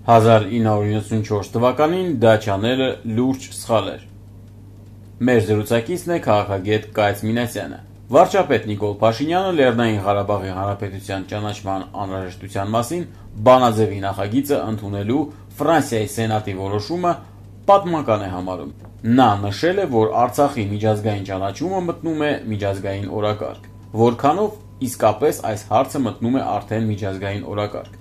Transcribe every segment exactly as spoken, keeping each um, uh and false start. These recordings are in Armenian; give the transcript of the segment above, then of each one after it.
հազար ինը հարյուր իննսունչորս թվականին դա չանելը լուրջ սխալ էր։ Մեր զրուցակիցն է քաղաքագետ Կայծ Մինասյանը։ Վարչապետ Նիկոլ Փաշինյանը Լեռնային Ղարաբաղի Հանրապետության ճանաչման անհրաժեշտության մասին բանաձևի նախագիծը ընդունելու Ֆրանսիայի Սենատի որոշումը պատմական է համարում։ Նա նշել է, որ Արցախի միջազգային ճանաչումը մտնում է միջազգային օրակարգ, որքանով իսկապես այս հարցը մտնում է արդեն միջազգային օրակարգ։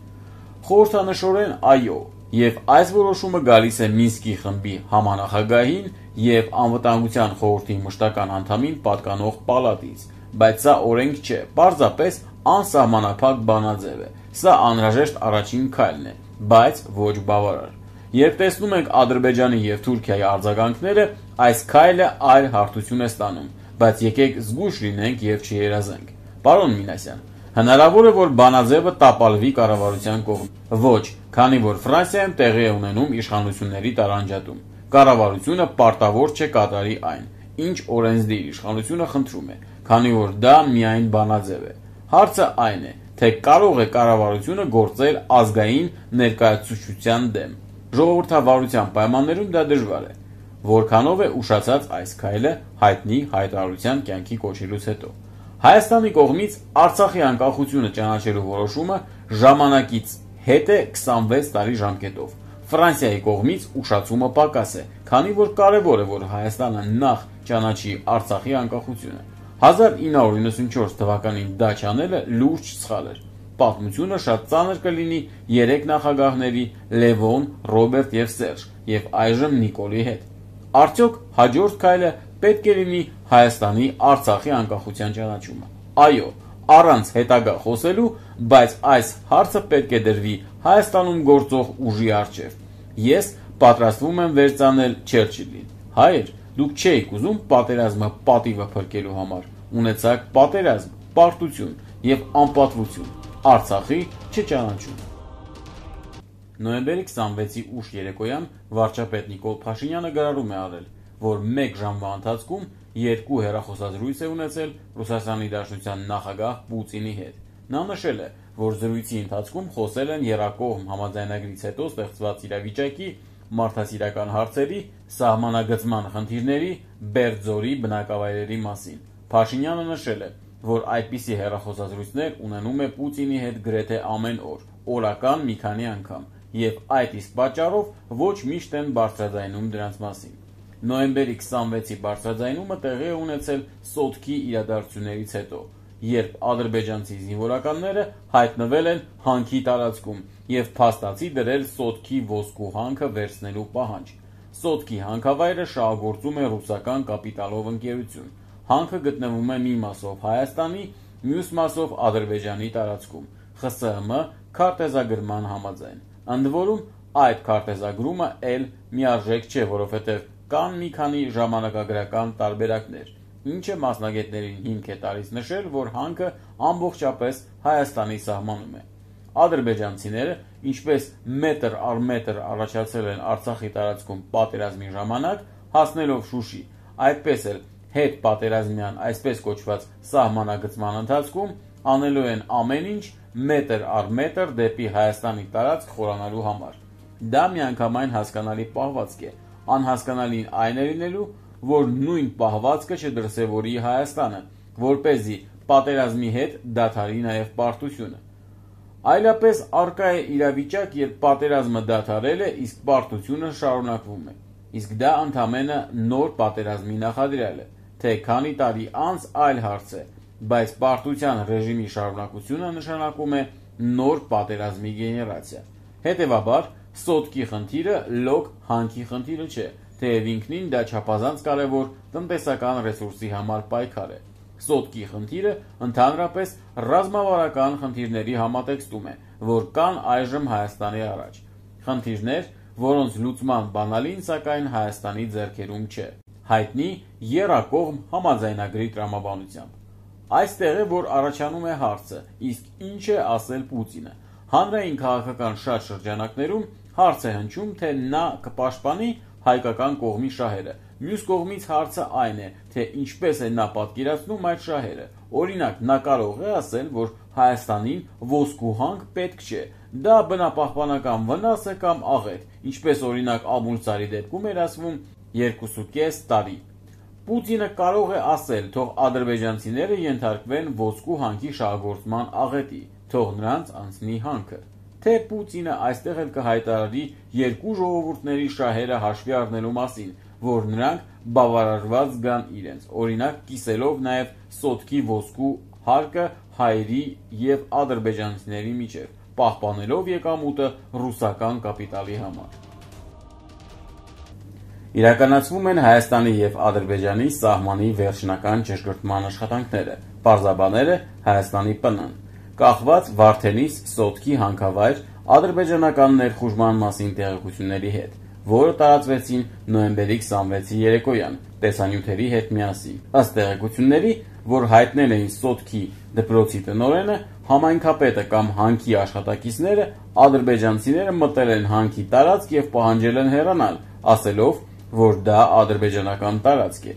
Խորհրդանշորեն այո, եւ այս որոշումը գալիս է Մինսկի խմբի համանախագահին եւ Անվտանգության խորհրդի մշտական անդամին պատկանող պալատից, բայց սա օրենք չէ, պարզապես անսահմանափակ բանաձև է։ Սա անհրաժեշտ առաջին քայլն է, բայց ոչ բավարար։ Երբ տեսնում ենք Ադրբեջանի եւ Թուրքիայի արձագանքները, այս քայլը այլ հարթություն է ստանում, բայց եկեք զգույշ լինենք եւ չերազենք։ Պարոն Մինասյան, հնարավոր է, որ բանաձևը տապալվի կառավարության կողմից։ Ոչ, քանի որ Ֆրանսիայում տեղի է ունենում իշխանությունների տարանջատում։ Կառավարությունը պարտավոր չէ կատարի այն, ինչ օրենսդիր իշխանությունը խնդրում է, քանի որ դա միայն բանաձև է։ Հարցը այն է, թե կարող է կառավարությունը գործել ազգային ներկայացուցչության դեմ։ Ժողովրդավարության պայմաններում դա դժվար է։ Որքանով է ուշացած այս քայլը հայտնի հայտարարության կյանքի կոչելուց հետո։ Հայաստանի կողմից Արցախի անկախությունը ճանաչելու որոշումը ժամանակից հետ է քսանվեց տարի ժամկետով։ Ֆրանսիայի կողմից ուշացումը պակաս է, քանի որ կարևոր է, որ Հայաստանը նախ ճանաչի Արցախի անկախությունը։ հազար ինը հարյուր իննսունչորս թվականին դա չանելը լուրջ սխալ էր։ Պատմությունը շատ ծանր կլինի երեք նախագահների՝ Լևոն, Ռոբերտ եւ Սերժ, եւ այժմ Նիկոլի հետ։ Արդյոք հաջորդ քայլը պետք է լինի Հայաստանի Արցախի անկախության ճանաչումը։ Այո, առանց հետագա խոսելու, բայց այս հարցը պետք է դրվի Հայաստանում գործող ուժի առջև։ Ես պատրաստվում եմ վերծանել Չերչիլին։ Հայեր, դուք չէիք ուզում պատերազմը պատիվը փրկելու համար, ունեցաք պատերազմ, պարտություն եւ անպատվություն, Արցախի չճանաչում։ Նոյեմբերի քսանվեցի ուշ երեկոյան վարչապետ Նիկոլ Փաշինյանը գրառում է արել, որ մեկ ժամվա ընթացքում երկու հեռախոսազրույց է ունեցել Ռուսաստանի Դաշնության նախագահ Պուտինի հետ։ Նա նշել է, որ զրույցի ընթացքում խոսել են եռակողմ համաձայնագրից հետո ստեղծված իրավիճակի, մարդասիրական հարցերի, սահմանագծման խնդիրների, Բերձորի բնակավայրերի մասին։ Փաշինյանը նշել է, որ այդպիսի հեռախոսազրույցներ ունենում է Պուտինի հետ գրեթե ամեն օր, օրական մի քանի անգամ, եւ այդ իսկ պատճառով ոչ միշտ են բարձրաձայնում դրանց մասին։ Նոյեմբերի քսանվեցի բարձրաձայնումը տեղի է ունեցել Սոտքի իրադարձություններից հետո, երբ ադրբեջանցի զինվորականները հայտնվել են հանքի տարածքում եւ փաստացի դրել Սոտքի ոսկու հանքը վերցնելու պահանջ։ Սոտքի հանքավայրը շահագործում է ռուսական կապիտալով ընկերություն։ Հանքը գտնվում է մի մասով Հայաստանի, մյուս մասով Ադրբեջանի տարածքում, ԽՍՀՄ քարտեզագրման համաձայն։ Ընդ որում, այդ քարտեզագրումը էլ միարժեք չէ, որովհետև կան մի քանի ժամանակագրական տարբերակներ, ինչը մասնագետներին հիմք է տալիս նշել, որ հանքը ամբողջապես Հայաստանի սահմանում է։ Ադրբեջանցիները, ինչպես մետր առ մետր առաջացել են Արցախի տարածքում պատերազմի ժամանակ, հասնելով Շուշի, այդպես էլ հետ պատերազմյան այսպես կոչված սահմանագծման ընթացքում անելու են ամեն ինչ մետր առ մետր դեպի Հայաստանի տարածք խորանալու համար։ Դա միանգամայն հասկանալի պահվածք է, անհասկանալին այն է լինելու, որ նույն պահվածքը չդրսևորի Հայաստանը, որպեսզի պատերազմի հետ դադարի նաև պարտությունը։ Այլապես առկա է իրավիճակ, երբ պատերազմը դադարել է, իսկ պարտությունը շարունակվում է։ Իսկ դա ընդամենը նոր պատերազմի նախադրյալ է, թե քանի տարի անց այլ հարց է, բայց պարտության ռեժիմի շարունակությունը նշանակում է նոր պատերազմի գեներացիա։ Հետևաբար, Սոտքի խնդիրը լոկ հանքի խնդիրը չէ, թեև ինքնին դա չափազանց կարևոր տնտեսական ռեսուրսի համար պայքար է։ Սոտքի խնդիրը ընդհանրապես ռազմավարական խնդիրների համատեքստում է, որ կան այժմ Հայաստանի առաջ։ Խնդիրներ, որոնց լուծման բանալին սակայն Հայաստանի ձեռքերում չէ, հայտնի եռակողմ համաձայնագրի տրամաբանությամբ։ Այստեղ է, որ առաջանում է հարցը, իսկ ինչ է ասել Պուտինը։ Հանրային քաղաքական շատ շրջանակներում հարց է հնչում, թե նա կպաշտպանի հայկական կողմի շահերը, Մյուս կողմից հարցը այն է, թե ինչպես է նա պատկերացնում այդ շահերը։ Օրինակ, նա կարող է ասել, որ Հայաստանին ոսկու հանք պետք չէ, դա բնապահպանական վնաս է կամ աղետ, ինչպես օրինակ Ամուլցարի դեպքում էր ասվում երկուսուկես տարի։ Պուտինը կարող է ասել, թող ադրբեջանցիները ենթարկվեն ոսկու հանքի շահագործման աղետի, թող նրանց անցնի հանքը։ Թե Պուտինը այստեղ էլ կհայտարարի երկու ժողովուրդների շահերը հաշվի առնելու մասին, որ նրանք բավարարված զգան իրենց, օրինակ կիսելով նաև սոտքի ոսկու հարկը հայերի և ադրբեջանցիների միջև, պահպանելով եկամուտը ռուսական կապիտալի համար։ Իրականացվում են Հայաստանի և Ադրբեջանի սահմանի վերջնական ճշգրտման աշխատանքները, պարզաբանել է Հայաստանի ՊՆ-ն, կախված Վարդենիս սոտքի հանքավայր ադրբեջանական ներխուժման մասին տեղեկությունների հետ, որը տարածվեցին նոյեմբերի քսանվեցի երեկոյան տեսանյութերի հետ միասին։ Ըստ տեղեկությունների, որ հայտնել էին սոտքի դպրոցի տնօրենը, համայնքապետը կամ հանքի աշխատակիցները, ադրբեջանցիները մտել են հանքի տարածք և պահանջել են հեռանալ, ասելով, որ դա ադրբեջանական տարածք է։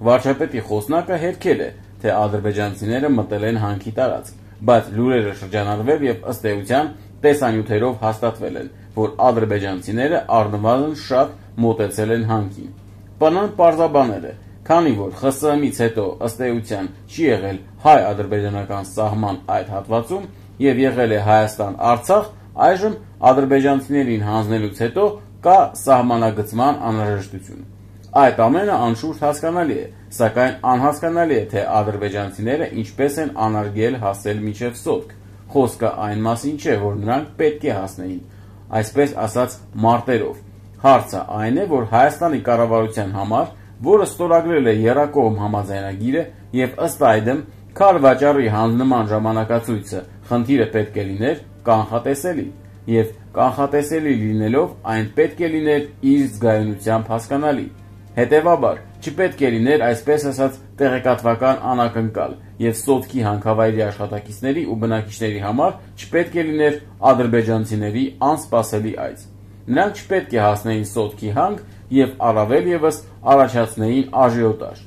Վարչապետի խոսնակը հերքել է, թե ադրբեջանցիները մտել են հանքի տարածք, բայց լուրերը շրջանառվել և ըստ էության տեսանյութերով հաստատվել են, որ ադրբեջանցիները առնվազն շատ մոտեցել են հանքին։ ՊՆ-ն պարզաբանել է, քանի որ ԽՍՀՄ-ից հետո ըստ էության չի եղել հայ-ադրբեջանական սահման այդ հատվածում և եղել է Հայաստան-Արցախ, այժմ ադրբեջանցիներին հանձնելուց հետո կա սահմանագծման անհրաժեշտություն։ Այդ ամենը անշուշտ հասկանալի է, սակայն անհասկանալի է, թե ադրբեջանցիները ինչպես են անարգել հասել մինչև սոտք։ Խոսքը այն մասին չէ, որ նրանք պետք է հասնեին, այսպես ասած մարտերով։ Հարցը այն է, որ Հայաստանի կառավարության համար, որը ստորագրել է եռակողմ համաձայնագիրը և ըստ այդմ քարվաճառի հանձնման ժամանակացույցը խնդիրը պետք է լիներ կանխատեսելի, և կանխատեսելի լինելով այն պետք է լիներ իր զգայունությամբ հասկանալի։ Հետևաբար, չպետք է լիներ այսպես ասած տեղեկատվական անակնկալ և սոտքի հանքավայրի աշխատակիցների ու բնակիչների համար չպետք է լիներ ադրբեջանցիների անսպասելի այց։ Նրանք չպետք է հասնեին սոտքի հանք և առավել ևս առաջացնեին աժիոտաժ։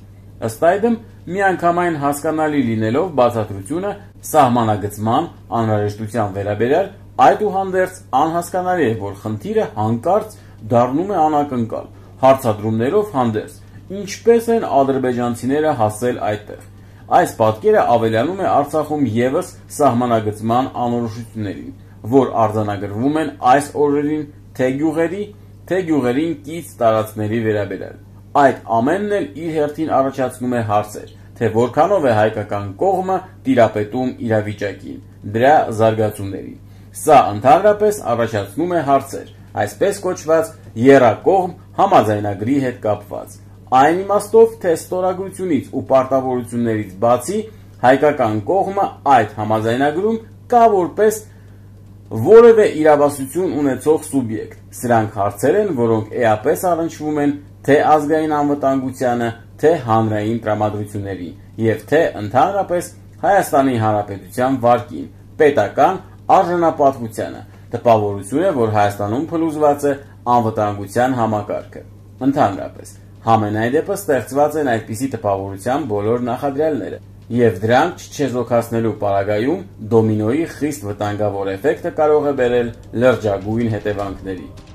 Ըստ այդմ, միանգամայն հասկանալի լինելով բացատրությունը սահմանագծման անհրաժեշտության վերաբերյալ, այդուհանդերձ անհասկանալի է, որ խնդիրը հանկարծ դառնում է անակնկալ, հարցադրումներով հանդերձ, ինչպես են ադրբեջանցիները հասել այդտեղ։ Այս պատկերը ավելանում է Արցախում ևս սահմանագծման անորոշություններին, որ արձանագրվում են այս օրերին թե գյուղերի, թե գյուղերին կից տարածքների վերաբերյալ։ Այդ ամենն էլ իր հերթին առաջացնում է հարցեր, թե որքանով է հայկական կողմը տիրապետում իրավիճակին, դրա զարգացումներին։ Սա ընդհանրապես առաջացնում է հարցեր, այսպես կոչված եռակողմ համաձայնագրի հետ կապված։ Այն իմաստով, թե ստորագրությունից ու պարտավորություններից բացի հայկական կողմը այդ համաձայնագրում կա որպես որևէ իրավասություն ունեցող սուբյեկտ։ Սրանք հարցեր են, որոնք էապես առնչվում են թե ազգային անվտանգությանը, թե հանրային տրամադրություններին և թե ընդհանրապես Հայաստանի Հանրապետության վարկին, պետական արժանապատվությանը, տպավորություն է, որ Հայաստանում փլուզված է անվտանգության համակարգը։ Ընդհանրապես, համենայն դեպս ստեղծված են այդպիսի տպավորության բոլոր նախադրյալները, և դրանք չչեզոքացնելու պարագայում դոմինոյի խիստ վտանգավոր էֆեկտը կարող է բերել լրջագույն հետևանքների։